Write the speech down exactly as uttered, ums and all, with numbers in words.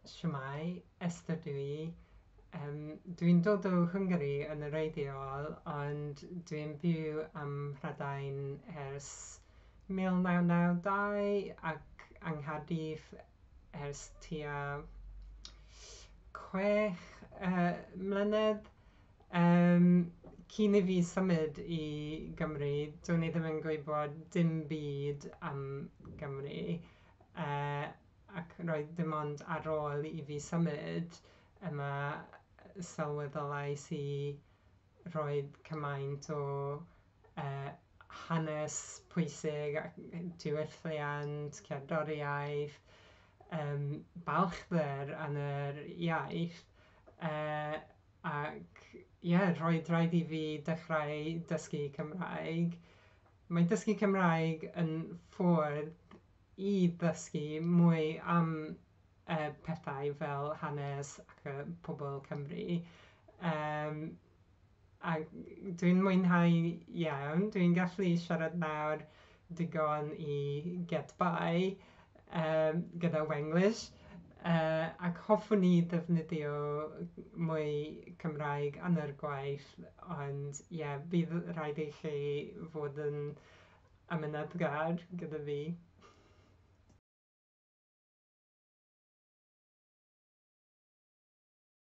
Shwmae, Esther dw i. Yym, dwi'n dod o Hwngari yn wreiddiol, ond dwi'n byw ym Mhrydain ers mil naw naw dau ac yng Nghaerdydd ers tua chwech yy mlynedd. Yym, cyn i fi symud i Gymru, do'n i ddim yn gwybod dim byd am Gymru, yy, ac roedd dim ond ar ôl i fi symud yma sylweddolais i roedd cymaint o yy hanes pwysig ac diwylliant, cerddoriaeth, yym, balchder yn yr iaith. Yy, ac ie, roedd rhaid i fi dechrau dysgu Cymraeg. Mae dysgu Cymraeg yn ffordd i ddysgu mwy am y pethau fel hanes ac yy pobl Cymru. Yym, a dwi'n mwynhau iawn. Dwi'n gallu siarad nawr digon i get by yym gyda Wenglish. Yy, ac hoffwn i ddefnyddio mwy Cymraeg yn yr gwaith, ond ie, bydd rhaid i chi fod yn amyneddgar gyda fi.